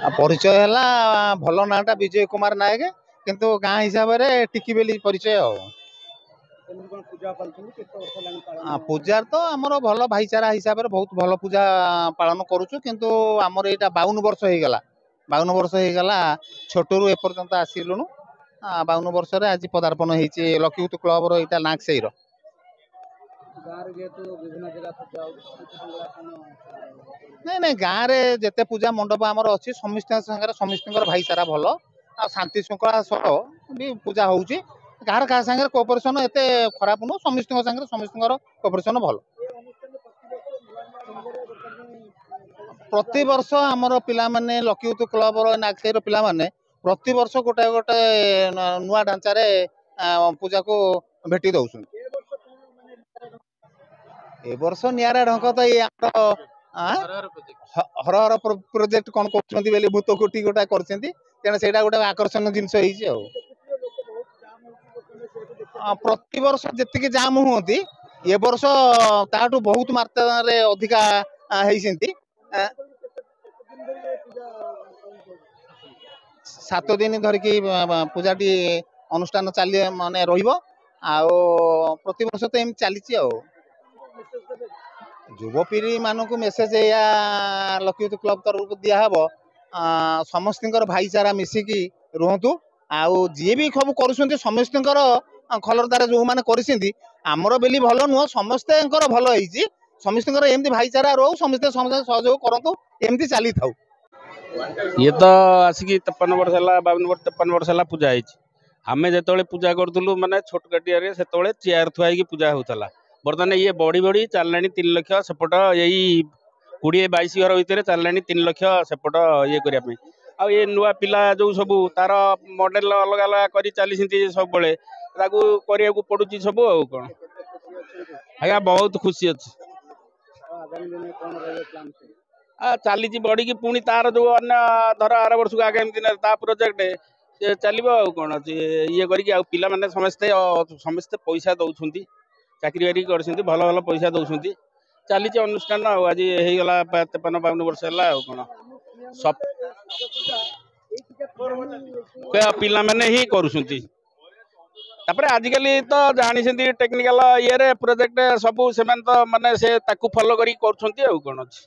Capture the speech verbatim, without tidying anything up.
ଆଉ ପରିଚୟ ହେଲା, ଭଲ ନାଁଟା ବିଜୟ କୁମାର ନାୟକ, କିନ୍ତୁ ଗାଁ ହିସାବରେ ଟିକି ବୋଲି ପରିଚୟ। ଆଉ ପୂଜା ତ ଆମର ଭଲ ଭାଇଚାରା ହିସାବରେ ବହୁତ ଭଲ ପୂଜା ପାଳନ କରୁଛୁ। କିନ୍ତୁ ଆମର ଏଇଟା ବାଉନ ବର୍ଷ ହେଇଗଲା, ବାଉନ ବର୍ଷ ହେଇଗଲା ଛୋଟରୁ ଏପର୍ଯ୍ୟନ୍ତ ଆସିଲୁଣୁ। ବାଉନ ବର୍ଷରେ ଆଜି ପଦାର୍ପଣ ହେଇଛି ଲକ୍ଷ୍ମୀ କ୍ଲବର, ଏଇଟା ନାଗସାହିର। ନାଇଁ ନାଇଁ, ଗାଁରେ ଯେତେ ପୂଜା ମଣ୍ଡପ ଆମର ଅଛି, ସମସ୍ତଙ୍କ ସାଙ୍ଗରେ ସମସ୍ତଙ୍କର ଭାଇଚାରା ଭଲ ଆଉ ଶାନ୍ତି ଶୃଙ୍ଖଳା ସହ ବି ପୂଜା ହଉଛି। କାହାର କାହା ସାଙ୍ଗରେ କୋଅପରେସନ ଏତେ ଖରାପ ନୁହଁ, ସମସ୍ତଙ୍କ ସାଙ୍ଗରେ ସମସ୍ତଙ୍କର କୋଅପରେସନ ଭଲ। ପ୍ରତିବର୍ଷ ଆମର ପିଲାମାନେ, ଲକ୍ଷ୍ମୀ କ୍ଲବର ନାଗସାହିର ପିଲାମାନେ ପ୍ରତିବର୍ଷ ଗୋଟେ ଗୋଟେ ନୂଆ ଢାଞ୍ଚାରେ ପୂଜାକୁ ଭେଟି ଦଉଛନ୍ତି। ଏ ବର୍ଷ ନିଆରା ଢଙ୍କ ତ ଏଇ ଆମର ହର ହର ପ୍ରୋଜେକ୍ଟ କଣ କରୁଛନ୍ତି ବୋଲି ଭୂତ କୋଠି ଗୋଟେ କରିଛନ୍ତି, ତେଣୁ ସେଇଟା ଗୋଟେ ଆକର୍ଷଣୀୟ ଜିନିଷ ହେଇଛି। ଆଉ ପ୍ରତିବର୍ଷ ଯେତିକି ଜାମ ହୁଅନ୍ତି, ଏ ବର୍ଷ ତାଠୁ ବହୁତ ମାତ୍ରାରେ ଅଧିକା ହେଇଛନ୍ତି। ସାତ ଦିନ ଧରିକି ପୂଜାଟି ଅନୁଷ୍ଠାନ ଚାଲି ମାନେ ରହିବ, ଆଉ ପ୍ରତିବର୍ଷ ତ ଏମିତି ଚାଲିଛି। ଆଉ ଯୁବପିଢ଼ି ମାନଙ୍କୁ ମେସେଜ ଏଇଆ ଲକ୍ଷ୍ମୀ କ୍ଲବ ତରଫରୁ ଦିଆହବ, ସମସ୍ତଙ୍କର ଭାଇଚାରା ମିଶିକି ରୁହନ୍ତୁ। ଆଉ ଯିଏ ବି ସବୁ କରୁଛନ୍ତି, ସମସ୍ତଙ୍କର ଖଲରଦାର ଯୋଉମାନେ କରିଛନ୍ତି, ଆମର ବୋଲି ଭଲ ନୁହଁ, ସମସ୍ତଙ୍କର ଭଲ ହେଇଛି। ସମସ୍ତଙ୍କର ଏମିତି ଭାଇଚାରା ରହୁ, ସମସ୍ତେ ସମସ୍ତେ ସହଯୋଗ କରନ୍ତୁ, ଏମିତି ଚାଲିଥାଉ। ଇଏ ତ ଆସିକି ତେପନ ବର୍ଷ ହେଲା, ବାଉନ ବର୍ଷ, ତେପନ ବର୍ଷ ହେଲା ପୂଜା ହେଇଛି। ଆମେ ଯେତେବେଳେ ପୂଜା କରୁଥିଲୁ, ମାନେ ଛୋଟକାଟିଆରେ, ସେତେବେଳେ ଚେୟାର ଥୁଆ ହେଇକି ପୂଜା ହେଉଥିଲା। ବର୍ତ୍ତମାନ ଇଏ ବଢ଼ି ବଢ଼ି ଚାଲିଲାଣି ତିନି ଲକ୍ଷ ସେପଟ, ଏଇ କୋଡ଼ିଏ ବାଇଶ ଘର ଭିତରେ ଚାଲିଲାଣି ତିନି ଲକ୍ଷ ସେପଟ ଇଏ କରିବା ପାଇଁ। ଆଉ ଏ ନୂଆ ପିଲା ଯୋଉ ସବୁ ତାର ମଡେଲ ଅଲଗା ଅଲଗା କରି ଚାଲିଛନ୍ତି ସବୁବେଳେ, ତାକୁ କରିବାକୁ ପଡୁଛି ସବୁ। ଆଉ କ'ଣ ଆଜ୍ଞା, ବହୁତ ଖୁସି ଅଛି। ଚାଲିଛି ବଢିକି, ପୁଣି ତାର ଯୋଉ ଅନ୍ୟ ଧର ଆର ବର୍ଷକୁ ଆଗାମୀ ଦିନରେ ତା ପ୍ରୋଜେକ୍ଟ ସେ ଚାଲିବ। ଆଉ କ'ଣ ଅଛି ଇଏ କରିକି, ଆଉ ପିଲାମାନେ ସମସ୍ତେ ସମସ୍ତେ ପଇସା ଦଉଛନ୍ତି, ଚାକିରି ବାକିରି କରିଛନ୍ତି, ଭଲ ଭଲ ପଇସା ଦଉଛନ୍ତି, ଚାଲିଛି ଅନୁଷ୍ଠାନ। ଆଉ ଆଜି ହେଇଗଲା ତେପନ ବାଉନ ବର୍ଷ ହେଲା। ଆଉ କ'ଣ, ପିଲାମାନେ ହିଁ କରୁଛନ୍ତି। ତାପରେ ଆଜିକାଲି ତ ଜାଣିଛନ୍ତି, ଟେକ୍ନିକାଲ ଇଏରେ ପ୍ରୋଜେକ୍ଟ ସବୁ, ସେମାନେ ତ ମାନେ ସେ ତାକୁ ଫଲୋ କରିକି କରୁଛନ୍ତି। ଆଉ କ'ଣ ଅଛି?